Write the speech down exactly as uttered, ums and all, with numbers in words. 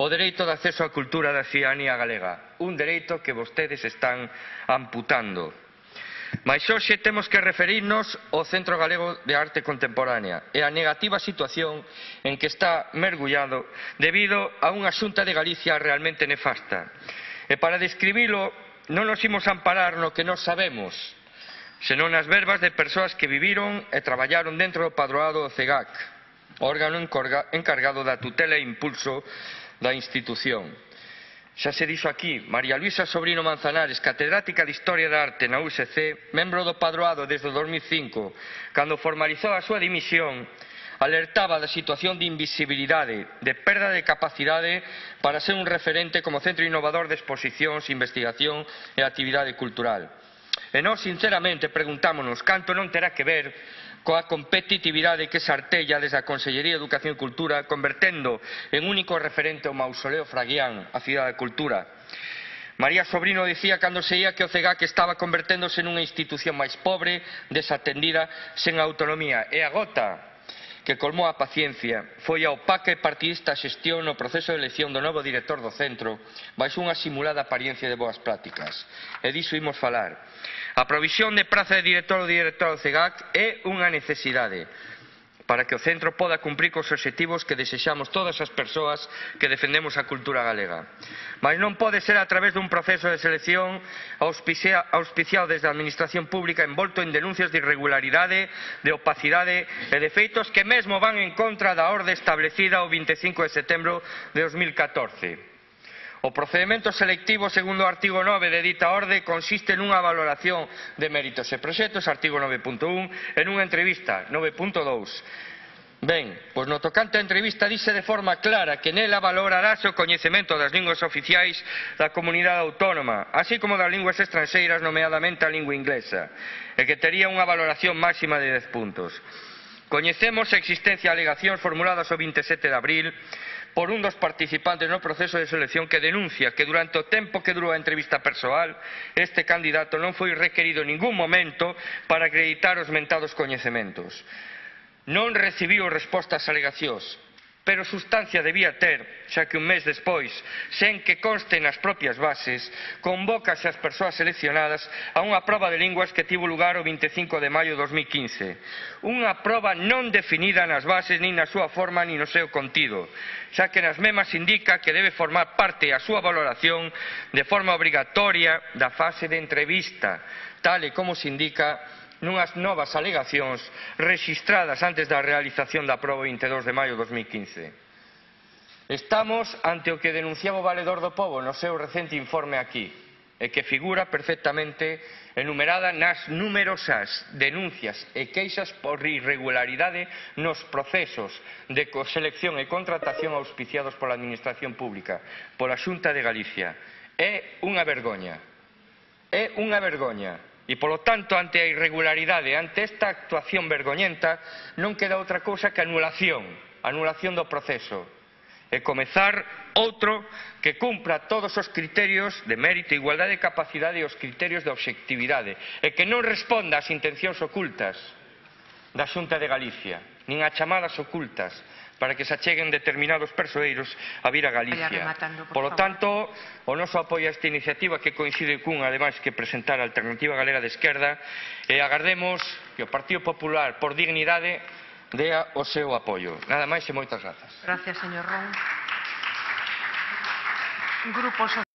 o dereito de acceso á cultura da cidadanía galega, un dereito que vostedes están amputando. Mais hoxe temos que referirnos ao Centro Galego de Arte Contemporánea e á negativa situación en que está mergullado debido a unha Xunta de Galicia realmente nefasta. E para describilo non nos imos amparar no que nós sabemos, senón nas verbas de persoas que viviron e traballaron dentro do padroado do CEGAC, órgano encargado da tutela e impulso da institución. Xa se dixo aquí, María Luisa Sobrino Manzanares, catedrática de Historia da Arte na U S C, membro do padroado desde o dos mil cinco, cando formalizou a súa dimisión, alertaba da situación de invisibilidade, de perda de capacidade para ser un referente como centro innovador de exposicións, investigación e actividade cultural. E nós, sinceramente, preguntámonos canto non terá que ver coa competitividade que se artella desde a Consellería de Educación e Cultura, convertendo en único referente o Mausoleo Fraguián, a Cidade da Cultura. María Sobrino dicía cando se ia que o CEGAC estaba converténdose nunha institución máis pobre, desatendida, sen autonomía. E a gota que colmou a paciencia foi a opaca e partidista xestión no proceso de elección do novo director do centro baixo unha simulada apariencia de boas prácticas. E diso imos falar. A provisión de praza de director ou directora do CEGAC é unha necesidade para que o centro poda cumprir cos obxectivos que desexamos todas as persoas que defendemos a cultura galega. Mas non pode ser a través dun proceso de selección auspiciado desde a Administración Pública envolto en denuncias de irregularidade, de opacidade e de feitos que mesmo van en contra da orde establecida o vinte e cinco de setembro de dos mil catorce. O procedemento selectivo, segundo o artigo nove de dita orde, consiste nunha valoración de méritos e proxectos, artigo nove punto un, e nunha entrevista, nove punto dous. Ben, pois no tocante á entrevista dice de forma clara que nela valorarase o coñecemento das linguas oficiais da comunidade autónoma, así como das linguas estranxeiras, nomeadamente a lingua inglesa, e que tería unha valoración máxima de dez puntos. Coñecemos a existencia de alegacións formuladas o vinte e sete de abril por un dos participantes no proceso de selección que denuncia que durante o tempo que durou a entrevista persoal este candidato non foi requerido en ningún momento para acreditar os mentados coñecementos. Non recibiu resposta ás alegacións, pero sustancia debía ter, xa que un mes despois, sen que conste nas propias bases, convócase as persoas seleccionadas a unha proba de linguas que tivo lugar o vinte e cinco de maio de dos mil quince. Unha proba non definida nas bases, nin na súa forma, nin no seu contido, xa que nas mesmas indica que debe formar parte a súa valoración de forma obrigatoria da fase de entrevista, tal e como se indica nunhas novas alegacións rexistradas antes da realización da proba vinte e dous de maio de dos mil quince. Estamos ante o que denunciaba o Valedor do Pobo no seu recente informe aquí, e que figura perfectamente enumerada nas numerosas denuncias e queixas por irregularidade nos procesos de selección e contratación auspiciados pola Administración Pública, pola Xunta de Galicia. É unha vergoña. É unha vergoña. E, polo tanto, ante a irregularidade, ante esta actuación vergoñenta, non queda outra cousa que anulación, anulación do proceso, e comezar outro que cumpra todos os criterios de mérito, igualdade de capacidade e os criterios de obxectividade, e que non responda ás intencións ocultas da Xunta de Galicia, nin a chamadas ocultas, para que se acheguen determinados persoeiros a vir a Galicia. Por lo tanto, o noso apoio a esta iniciativa, que coincide cun, ademais, que presentar a Alternativa Galega de Esquerda, e agardemos que o Partido Popular, por dignidade, dea o seu apoio. Nada máis e moitas grazas. Gracias, señor Ron. Grupo